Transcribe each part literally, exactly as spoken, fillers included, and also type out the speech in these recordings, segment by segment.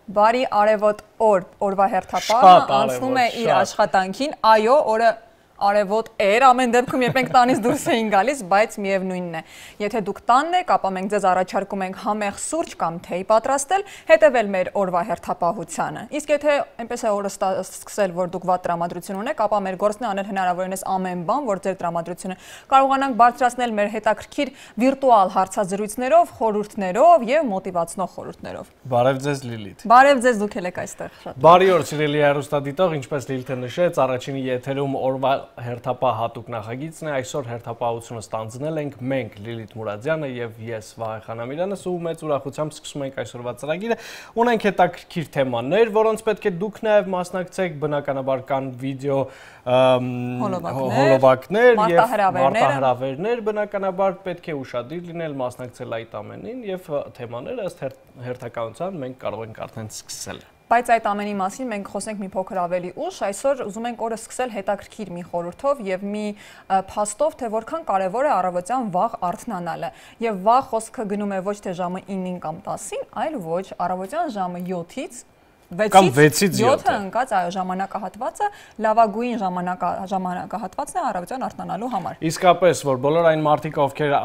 բարի արևոտ օր, օրվա հերթապահը անցնում է իր աշխատանքին, այո, օրը արևոտ էր, ամեն դեպքում երբ մենք տանից դուրս էին գալիս, բայց միևնույնն է։ Եթե դուք տանն եք, ապա մենք ձեզ առաջարկում ենք համեղ սուրճ կամ թեյ պատրաստել, հետևել մեր օրվա հերթապահությանը։ Իսկ եթե այնպես է օրը սկսել, որ դուք վատ տրամադրություն ունեք, ապա մեր գործն է անել հնարավորինս ամեն բան, որ ձեր տրամադրությունը կարողանանք բարձրացնել մեր հետաքրքիր վիրտուալ հարցազրույցներով, խորհուրդներով եւ մոտիվացնող խորհուրդներով։ Բարև ձեզ Լիլիթ։ Բարև ձեզ, դուք եք այստեղ շատ։ Բարի օր, սիրելի հեռուստադիտող, ինչպես Լիլիթը նշեց, առաջինի եթերում օրվա հերթապահ հատուկ նախագիծն է, այսօր հերթապահությունը ստանձնել ենք մենք Լիլիթ Մուրադյանը եւ ես Վահե Խանամյանս ու մեծ ուրախությամբ սկսում ենք այսօրվա ծրագիրը։ Ունենք հետաքրքիր թեմաներ, որոնց պետք է դուք նաեւ մասնակցեք, բնականաբար կան վիդեո հոլովակներ եւ մարտահրավերներ, բնականաբար պետք է ուշադիր լինել, մասնակցել այդ ամենին եւ թեմաները ըստ հերթականության մենք կարող ենք արդեն սկսել։ Բայց այդ ամենի մասին մենք խոսենք մի փոքր ավելի ուշ, այսօր ուզում ենք օրը սկսել հետաքրքիր մի խորհրդով եւ մի փաստով, թե որքան կարեւոր է առավոտյան վաղ արթնանալը։ Եվ վաղ խոսքը գնում է ոչ թե ժամը իննին կամ տասին, այլ ոչ առավոտյան ժամը յոթից վեցից յոթը ընկած այո ժամանակահատվածը լավագույն ժամանակահատվածն է առավոտյան արթնանալու համար։ Իսկապես, որ բոլոր այն մարդիկ, ովքեր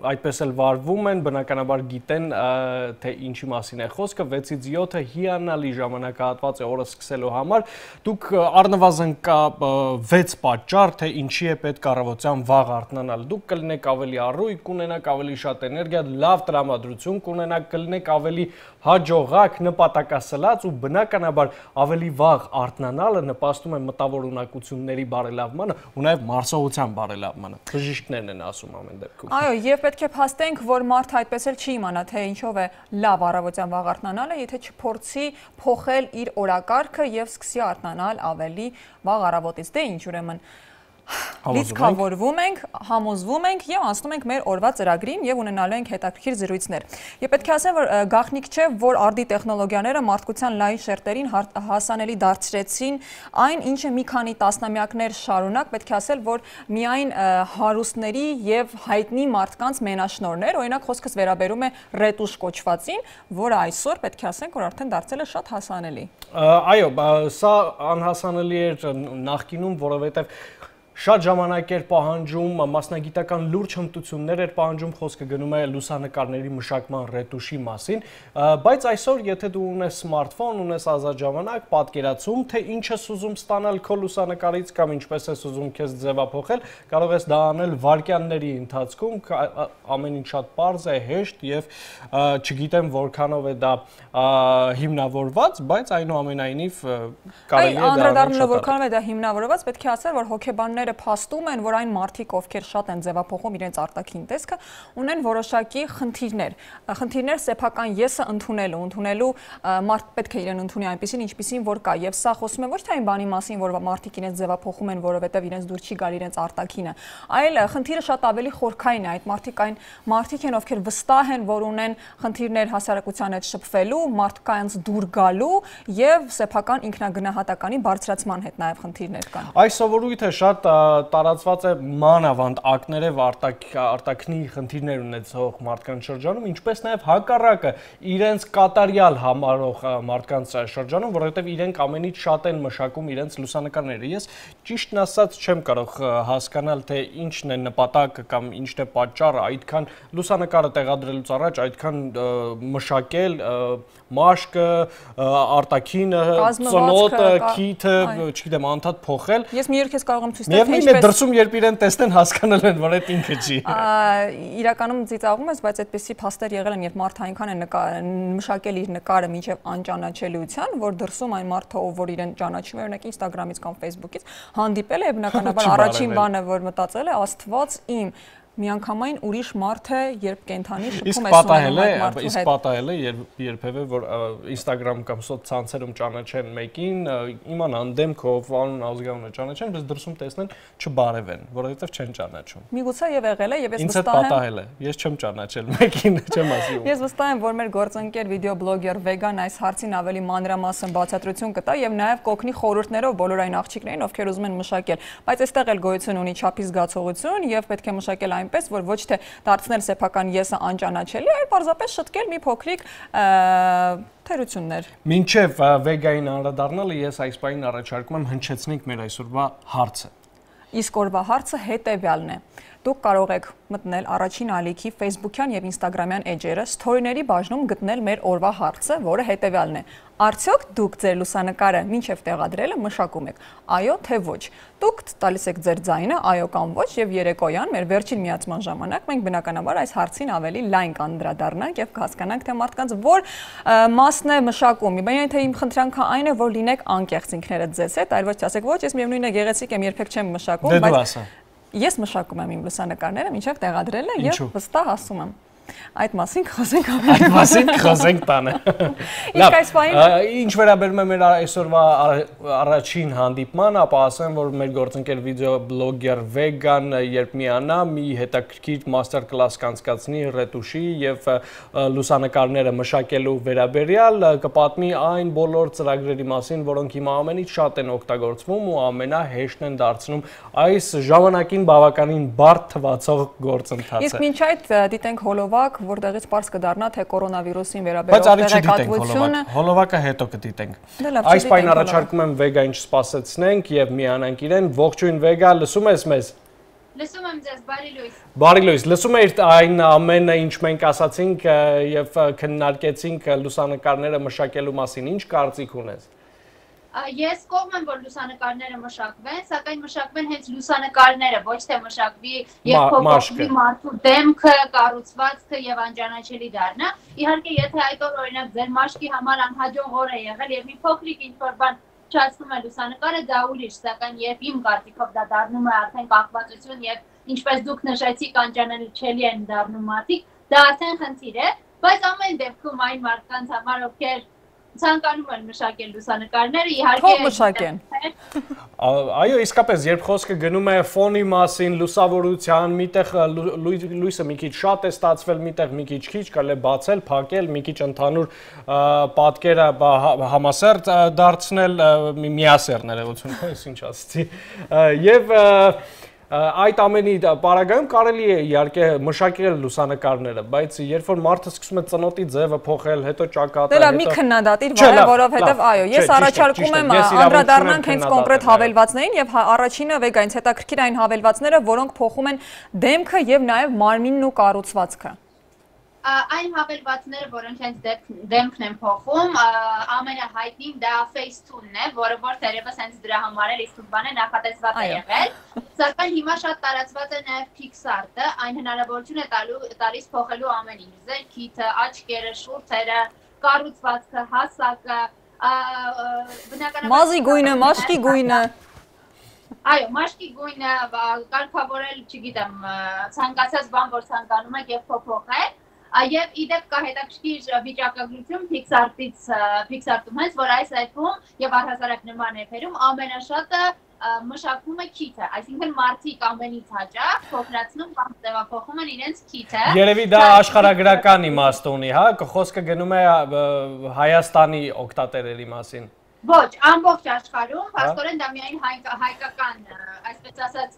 այդպես էլ վարվում են, բնականաբար գիտեն, թե ինչի մասին է խոսքը, վեցից յոթը հիանալի ժամանակահատված է օրը սկսելու համար։ Դուք առնվազն կա վեց պատճառ, թե ինչի է պետք առավոտյան վաղ արթնանալ։ Դուք կլինեք ավելի առույգ, կունենաք ավելի շատ էներգիա, լավ տրամադրություն, կունենաք կլինեք ավելի հաջողակ, նպատակասլաց ու բնականաբար ավելի վաղ արթնանալը նպաստում է մտավոր ունակությունների բարելավմանը ու նաև մարսողության բարելավմանը։ Բժիշկներն են ասում ամեն դեպքում։ Այո, եւ պետք է փաստենք, որ մարդը այդպես էլ չի իմանա, թե ինչով է լավ առավոտյան վաղ արթնանալը, եթե չփորձի փոխել իր օրակարգը եւ սկսի արթնանալ ավելի վաղ առավոտից։ Դե ինչ ուրեմն լիցքավորվում ենք, համոզվում ենք եւ անցնում ենք մեր օրվա ծրագրին եւ ունենալու ենք հետաքրքիր զրույցներ։ Եվ պետք է ասեմ, որ գաղտնիք չէ, որ արդի տեխնոլոգիաները մարդկության լայն շերտերին հասանելի դարձրեցին այն, ինչը մի քանի տասնամյակներ շարունակ պետք է ասել, որ միայն հարուստների եւ հայտնի մարդկանց մենաշնորհներ, օրինակ խոսքս վերաբերում է ռետուշ կոչվածին, որը այսօր պետք է ասենք, որ արդեն դարձել է շատ հասանելի։ Այո, սա անհասանելի էր նախկինում, որովհետեւ շատ ժամանակ էր պահանջում, մասնագիտական լուրջ հմտություններ էր պահանջում, խոսքը գնում է լուսանկարների մշակման ռետուշի մասին, բայց այսօր եթե դու ունես սմարթֆոն, ունես ազատ ժամանակ, պատկերացում, թե ինչ ես ուզում ստանալ քո լուսանկարից կամ ինչպես ես ուզում քեզ ձևափոխել, կարող ես դա անել վայրկյանների ընթացքում, ամեն ինչ շատ պարզ է, հեշտ եւ չգիտեմ որքանով է դա հիմնավորված, բայց այնուամենայնիվ կարելի է դա անդրադառնալով որքանով է դա հիմնավորված, պետք է ասել, որ հոգեբանները փաստում են, որ այն մարդիկ, ովքեր շատ են ձևափոխում իրենց արտաքին տեսքը, ունեն որոշակի խնդիրներ։ Խնդիրներ սեփական եսը ընդունելու, ընդունելու մարդ պետք է իրեն ընդունի այնպեսին, ինչպեսին որ կա։ Եվ սա խոսում է ոչ թե այն բանի մասին, որ մարդիկ իրենց ձևափոխում են, որովհետև իրենց դուր չի գալ իրենց արտաքինը, այլ խնդիրը շատ ավելի խորքային է։ Այդ մարդիկ այն մարդիկ են, ովքեր վստահ են, որ ունեն խնդիրներ հասարակության հետ շփվելու, մարդկանց դուր գալու եւ սեփական ինքնագնահատականի բարձրացման հետ նաեւ խնդիրներ կան։ Այս սովորույթը շատ տարածված է մանավանդ ակներով արտաքնի խնդիրներ ունեցող մարդկանց շրջանում, ինչպես նաև հակառակը իրենց կատարյալ համարող մարդկանց շրջանում, որովհետև իրենք ամենից շատ են մշակում իրենց լուսանկարները։ Ես ճիշտն ասած չեմ կարող հասկանալ, թե ինչն է նպատակը կամ ինչն է պատճառը այդքան լուսանկարը տեղադրելուց առաջ այդքան մշակել մաշկը, արտաքինը, ծնոտը, քիթը, չգիտեմ, անդադ փոխել։ Ես մի երգ ես կարող եմ ցույց տալ, թե ինչպես դրսում երբ իրեն տեսնեն հասկանալ են, որ այդ ինքը չի։ Իրականում ծիծաղում ես, բայց այդպեսի փաստեր եղել են, երբ մարդը այնքան է մշակել իր նկարը մինչև անճանաչելիության, որ դրսում այն մարդը, ով որ իրեն ճանաչում է, օրինակ Instagram-ից կամ Facebook-ից, հանդիպել է, բնականաբար առաջին բանը, որ մտածել է, Աստված իմ, միանգամայն ուրիշ մարդ է, երբ կենթանի շփում ես ունենում այդ մարդու հետ։ Իսկ պատահել է, երբևէ որ Instagram կամ սոցցանցերում ճանաչեն մեկին, իմանան դեմքով, անուն, ազգանունը ճանաչեն, բայց դրսում տեսնեն չբարևեն, որովհետև չեն ճանաչում։ Միգուցե եւ եղել է, եւ ես վստահ եմ։ Ինձ հետ պատահել է, ես չեմ ճանաչել մեկին, չեմ ասում։ Ես վստահ եմ, որ մեր գործընկեր վիդեոբլոգեր Վեգան այս հարցին ավելի մանրամասն բացատրություն կտա եւ նաեւ կօգնի խորհուրդներով բոլոր այն աղջիկներին, ովքեր ուզում են մշակել, բայց այստեղ էլ գոյություն ունի չափի զգացողություն եւ պետք է մշակել այնպես, որ ոչ թե դարձնել սեփական եսը անճանաչելի, այլ պարզապես շտկել մի փոքրիկ Թերություններ։ Մինչև վեգային անդրադառնալը ես այս բանին առաջարկում եմ հնչեցնենք մեր այսօրվա հարցը։ Իսկ օրվա հարցը հետևյալն է։ Դուք կարող եք մտնել առաջին ալիքի Facebook-յան եւ Instagram-յան էջերը, սթորիների բաժնում գտնել մեր օրվա հարցը, որը հետևյալն է. Արդյոք դուք ձեր լուսանկարը մինչև տեղադրելը մշակում եք, այո թե ոչ։ Դուք տալիս եք ձեր ձայնը, այո կամ ոչ, եւ երեկոյան մեր վերջին միացման ժամանակ մենք բնականաբար այս հարցին ավելի լայն կանդրադառնանք եւ կհասկանանք, թե մարդկանց որ մասն է մշակում։ Բայց թե իմ խնդրանքը այն է, որ լինեք անկեղծ ինքներդ ձեզ հետ, այլ ոչ ասեք, ոչ, ես միևնույն է գեղեցիկ եմ, երբեք չեմ մշակում, բայց ես մշակում եմ իմ լուսանկարները մինչև տեղադրելը եւ վստահ ասում եմ։ Այդ մասին խոսենք ավելի։ Այդ մասին խոսենք տանը։ Իսկ այս բանը ինչ վերաբերում է մեր այսօրվա առաջին հանդիպմանը, ապա ասեմ, որ մեր գործընկեր վիդեոբլոգեր Vegan երբ միանա, մի հետաքրքիր մաստեր կլաս կանցկացնի ռետուշի եւ լուսանկարները մշակելու վերաբերյալ, կպատմի այն բոլոր ծրագրերի մասին, որոնք հիմա ամենից շատ են օգտագործվում ու ամենահեշտն են դարձնում այս ժամանակին բավականին բարդ թվացող գործընթացը։ Իսկ մինչ այդ դիտենք հոլովակ, որտեղից պարզ կդառնա, թե կորոնավիրուսին վերաբերող տեղեկատվությունը։ Հոլովակը հետո կդիտենք։ Այս բանին առաջարկում եմ Վեգային չսպասեցնենք եւ միանանք իրեն։ Ողջույն Վեգա, լսում ես մեզ։ Լսում եմ ձեզ, բարի լույս։ Բարի լույս, լսում եք այն ամենը, ինչ մենք ասացինք եւ քննարկեցինք լուսանկարները մշակելու մասին, ինչ կարծիք ունես։ Ես կողմ եմ, որ լուսանկարները մշակվեն, սակայն մշակվեն հենց լուսանկարները, ոչ թե մշակվի եւ փոփոխվի մարդու դեմքը, կառուցվածքը եւ անճանաչելի դառնա։ Իհարկե, եթե այդ օր օրինակ ձեր մաշկի համար անհաջող օր է եղել եւ մի փոքրիկ ինչ-որ բան չացնում է լուսանկարը, դա ուրիշ, սակայն երբ իմ կարծիքով դա դառնում է արդեն կախվածություն եւ ինչպես դուք նշեցիք, անճանաչելի են դառնում մարդիկ, դա արդեն խնդիր է, բայց ամեն դեպքում այն մարդկանց համար, ովքեր ցանկանում են մշակել լուսանկարները, իհարկե թող մշակեն։ Այո, իսկապես, երբ խոսքը գնում է ֆոնի մասին, լուսավորության, միտեղ լույսը մի քիչ շատ է ստացվել, միտեղ մի քիչ քիչ, կարելի է բացել, փակել, մի քիչ ընդհանուր պատկերը համասերտ դարձնել, միասեռ ներողություն, ես ինչ ասացի։ Եվ այդ ամենի պարագայում կարելի է իհարկե մշակել լուսանկարները, բայց երբ որ մարդը սկսում է ծնոտի ձևը փոխել, հետո ճակատը, հետո մի քննադատիր վայ, որովհետև այո, ես առաջարկում եմ անդրադառնանք հենց կոնկրետ հավելվածներին եւ դեպքերը վեգանից հետաքրքիր այն հավելվածները, որոնք փոխում են դեմքը եւ նաեւ մարմինն ու կառուցվածքը։ Այն հավելվածները, որոնք հենց դեմքն են փոխում, ամենահայտնին դա Facetune-ն է, որը որ թերևս հենց դրա համար էլ իսկույնը նախատեսված է եղել, սակայն հիմա շատ տարածված է նաև PixArt-ը, այն հնարավորություն է տալիս փոխելու ամեն ինչ, ձեր քիթը, աչքերը, շուրթերը, կառուցվածքը, հասակը, բնականաբար մազի գույնը, մաշկի գույնը։ Այո, մաշկի գույնը կարգավորել, չգիտեմ, ցանկացած բան, որ ցանկանում եք եւ փոփոխել։ Եվ իդեպ կա հետաքրքիր վիճակագրություն PixArt-ից, PixArt-ում հենց, որ այս այփում եւ առհասարակ նման էփերում ամենաշատը մշակվում է քիթը, այսինքն մարդիկ ամենից հաճախ փոխրացնում կամ ձևափոխում են իրենց քիթը։ Երևի դա աշխարհագրական իմաստ ունի, հա, խոսքը գնում է Հայաստանի օգտատերերի մասին։ Ոչ, ամբողջ աշխարհում, փաստորեն դա միայն հայկական, այսպես ասած,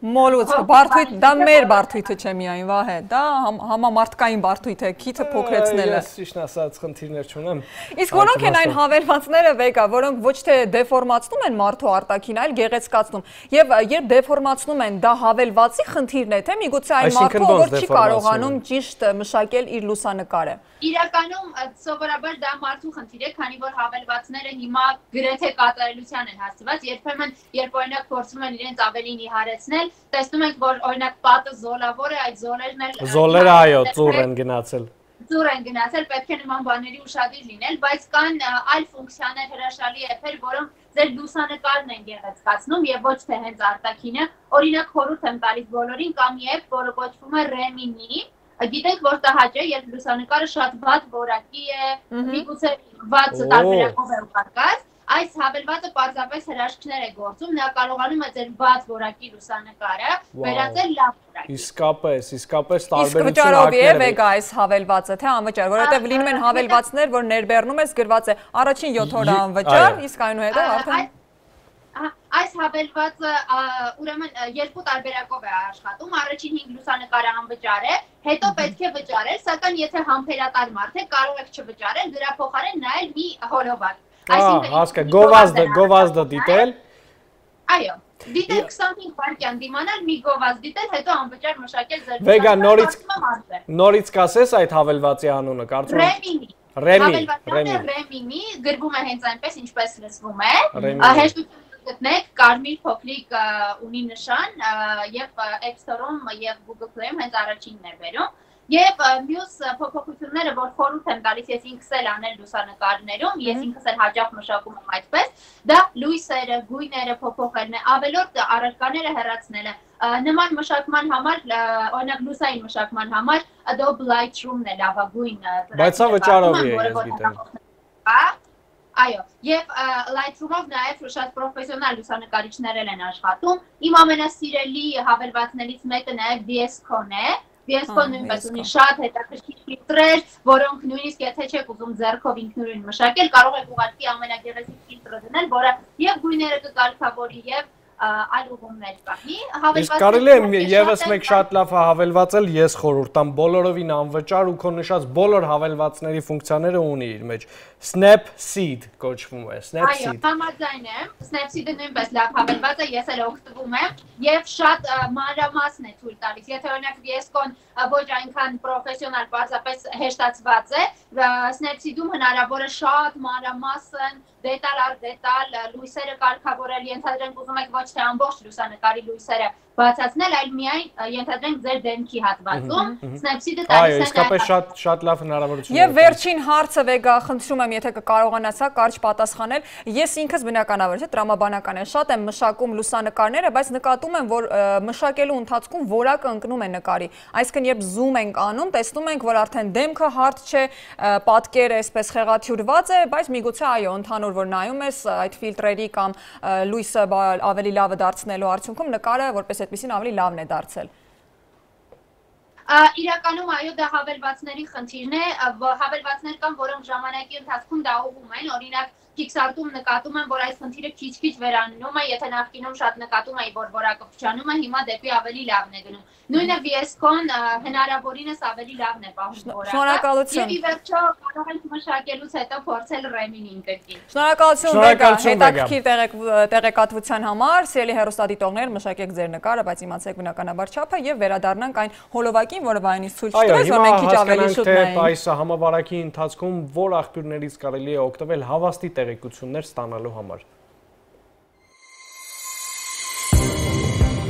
մոլուց, բարդույթ, դա մեր բարդույթը չէ միայն, Վահե, դա համամարտկային բարդույթ է, քիթը փոքրեցնելը։ Ես ճիշտն ասած խնդիրներ չունեմ։ Իսկ որոնք են այն հավելվածները վեգա, որոնք ոչ թե դեֆորմացնում են մարդու արտաքին, այլ գեղեցկացնում։ Եվ երբ դեֆորմացնում են, դա հավելվածի խնդիրն է, թե միգուցե այն մարդու, որ չի կարողանում ճիշտ մշակել իր լուսանկարը։ Իրականում սովորաբար դա մարդու խնդիր է, քանի որ հավելվածները հիմա գրեթե կատարելության են հասցված, երբեմն երբ օրինակ փորձում են իրենց ավելի նիհարեցնել, տեսնում ենք, որ օրինակ պատը զոլավոր է, այդ զոլերն էլ Զոլերը այո, ծուռ են գնացել։ Ծուռ են գնացել, պետք է նման բաների ուշադիր լինել, բայց կան այլ ֆունկցիաներ, հրաշալի էփեր, որոնք ձեր լուսանկարն են գեղեցկացնում եւ ոչ թե հենց արտաքինը։ Օրինակ խորհուրդ եմ տալիս բոլորին, կա մի էփ, որը կոչվում է Remini։ Գիտենք, որ տհաճ է, երբ լուսանկարը շատ վատ որակի է, միգուցե վատ տարբերակով է ուղարկած, այս հավելվածը պարզապես հրաշքներ է գործում, նա կարողանում է ձեր վատ որակի լուսանկարը վերածել լավ որակի։ Իսկապես, իսկապես տարբերություն ակներ է։ Իսկ վճարով է վեգա այս հավելվածը, թե անվճար, որովհետև լինում են հավելվածներ, որ ներբեռնում ես գրված է առաջին յոթ օր անվճար, իսկ այնուհետև արդեն Այս հավելվածը ուրեմն երկու տարբերակով է աշխատում, առաջին հինգ լուսանկարը անվճար է, հետո պետք է վճարել, սակայն եթե համբերատար մարդ է, կարող եք չվճարել, դրա փոխարեն նայել մի հոլովակ։ Հասկա, գովազդը, գովազդը դիտել։ Այո, դիտել քսանհինգ վայրկյան դիմանալ, մի գովազդ դիտել, հետո անվճար մշակել ձեր Վեգա, նորից նորից կասես այդ հավելվածի անունը, կարծում եմ Ռեմի, Ռեմի, Ռեմի, գրվում է հենց այնպես, ինչպես լսվում է, հեշտություն գտնեք, կարմիր փոքրիկ ունի նշան եւ App Store-ում եւ Google Play-ում հենց առաջինն է բերում եւ մյուս փոփոխությունները, որ խորհուրդ եմ տալիս ես ինքս էլ անել լուսանկարներում, ես ինքս էլ հաճախ մշակում եմ այդպես, դա լույսերը, գույները փոփոխելն է, ավելորդ առարկաները հեռացնելը։ Նման մշակման համար, օրինակ լուսային մշակման համար Adobe Lightroom-ն է լավագույն։ Բայց սա վճարով է, ես գիտեմ։ Այո, եւ Lightroom-ով նաեւ շատ պրոֆեսիոնալ լուսանկարիչներ են աշխատում։ Իմ ամենասիրելի հավելվածներից մեկը նաեւ V S Code է։ V S Code նույնպես ունի շատ հետաքրքիր ֆիլտրեր, որոնք նույնիսկ եթե չեք ուզում ձեռքով ինքնուրույն մշակել, կարող եք ուղղակի ամենագեղեցիկ ֆիլտրը դնել, որը եւ գույները կկարգավորի եւ այլ ուղումներ կանի։ Իսկ կարելի է եւս մեկ շատ լավ հավելվածել, ես խորհուրդ տամ բոլորովին անվճար ու քո նշած բոլոր հավելվածների ֆունկցիաները ունի իր մեջ։ Snapseed կոչվում է, Snapseed։ Այո, համաձայն եմ։ Snapseed-ը նույնպես լավ հավելված է, ես էլ օգտվում եմ եւ շատ մանրամասն է ցույց տալիս։ Եթե օրինակ V S Code-ն ոչ այնքան պրոֆեսիոնալ, պարզապես հեշտացված է, Snapseed-ում հնարավոր է շատ մանրամասն դետալ առ դետալ լույսերը կարգավորել, ենթադրենք ուզում եք ոչ թե ամբողջ լուսանկարի լույսերը բացացնել, այլ միայն ենթադրենք ձեր դեմքի հատվածում, Snapseed-ը տալիս է։ Այո, իսկապես շատ շատ լավ հնարավորություն է։ Եվ վերջին հարցը Վեգա, խնդրում եմ, եթե կկարողանաս կարճ պատասխանել, ես ինքս բնականաբար, չէ, տրամաբանական է, շատ եմ մշակում լուսանկարները, բայց նկատում եմ, որ մշակելու ընթացքում որակը ընկնում է նկարի։ Այսինքն, երբ զում ենք անում, տեսնում ենք, որ արդեն դեմքը հարթ չէ, պատկերը այսպես խեղաթյուրված է, բայց միգուցե այո, ընդհանուր որ նայում ես այդ ֆիլտրերի կամ լույսը ավելի լավը դարձնելու արդյունքում նկարը որպես այդպեսին ավելի լավն է դարձել։ Իրականում այո, դա հավելվածների խնդիրն է, հավելվածներ կան, որոնք ժամանակի ընթացքում դա ուղղում են, օրինակ Pixar-ում նկատում եմ, որ այս խնդիրը քիչ-քիչ վերանում է, եթե նախկինում շատ նկատում էի, որ որակը փչանում է, հիմա դեպի ավելի լավն է գնում։ Նույնը V S Code-ն հնարավորինս ավելի լավն է պահում որակը։ Շնորհակալություն։ Եվ ի վերջո կարող ենք մշակելուց հետո փորձել Ռեմին կրկին։ Շնորհակալություն Վեգա, հետաքրքիր տեղեկատվության համար, սիրելի հեռուստադիտողներ, մշակեք ձեր նկարը, բայց իմացեք բնականաբար չափը եւ վերադառնանք այն հոլովակին, որը վայնից ցույց տվեց, որ մենք քիչ ավելի շուտ նայենք։ Այս համավարակի ընթացքում որ աղբյուրներից կարելի է օգտվել հավաստի տեղեկություններ ստանալու համար։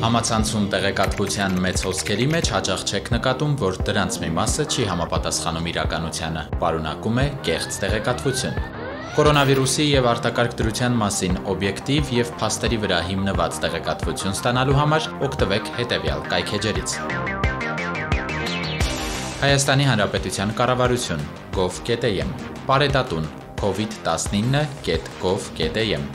Համացանցում տեղեկատվության մեծ հոսքերի մեջ հաճախ չեք նկատում, որ դրանց մի մասը չի համապատասխանում իրականությանը, պարունակում է կեղծ տեղեկատվություն։ Կորոնավիրուսի եւ արտակարգ դրության մասին օբյեկտիվ եւ փաստերի վրա հիմնված տեղեկատվություն ստանալու համար օգտվեք հետեւյալ կայքէջերից։ Հայաստանի Հանրապետության կառավարություն gov.am, Պարետատուն covid տասնինը կետ gov կետ am,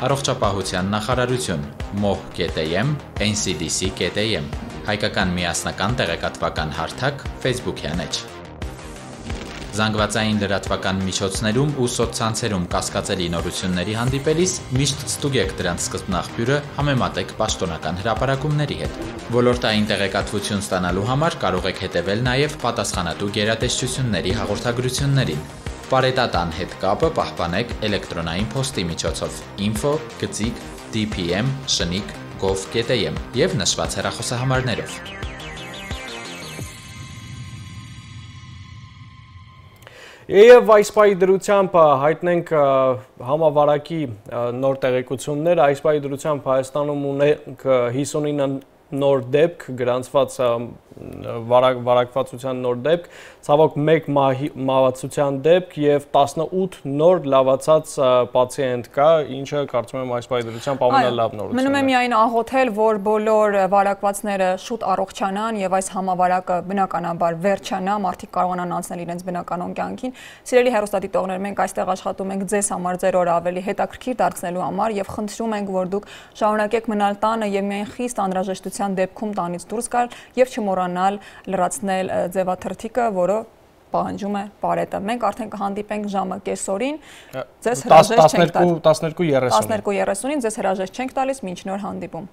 Առողջապահության նախարարություն moh.am, N C D C.am, Հայկական միասնական տեղեկատվական հարթակ Facebook-յան էջ։ Զանգվածային լրատվական միջոցներում ու սոցցանցերում կասկածելի նորությունների հանդիպելիս միշտ ստուգեք դրանց սկզբնաղբյուրը, համեմատեք պաշտոնական հրապարակումների հետ։ Ոլորտային տեղեկատվություն ստանալու համար կարող եք հետևել նաև պատասխանատու գերատեսչությունների հաղորդագրություններին։ Պարետատան հետ կապը պահպանեք էլեկտրոնային փոստի միջոցով info գծիկ d p m շնիկ gov կետ am եւ նշված հեռախոսահամարներով։ Եվ այս պահի դրությամբ հայտնենք համավարակի նոր տեղեկություններ, այս պահի դրությամբ Հայաստանում ունենք հիսունինը նոր դեպք, գրանցված վարակվածության նոր դեպք, ցավոք մեկ մահացության դեպք եւ տասնութ նոր լավացած պացիենտ կա, ինչը կարծում եմ այս պահի դրությամբ ամենալավ նորությունն է։ Մնում է միայն աղոթել, որ բոլոր վարակվածները շուտ առողջանան եւ այս համավարակը բնականաբար վերջանա, մարդիկ կարողանան անցնել իրենց բնականon կյանքին։ Սիրելի հեռուստադիտողներ, մենք այստեղ աշխատում ենք ձեզ համար ձեր օրը ավելի հետաքրքիր դարձնելու համար եւ խնդրում ենք, որ դուք շարունակեք մնալ տանը եւ միայն խիստ անհրաժեշտության դեպքում տանից դուրս գալ եւ չմոռանալ լրացնել ձևաթրթիկը, որը պահանջում է Պարետը։ Մենք արդեն կհանդիպենք ժամը կեսօրին, ձեզ հրաժեշտ չենք տալիս։ տասներկու երեսունին տասներկու երեսունին ձեզ հրաժեշտ չենք տալիս, մինչ նոր հանդիպում։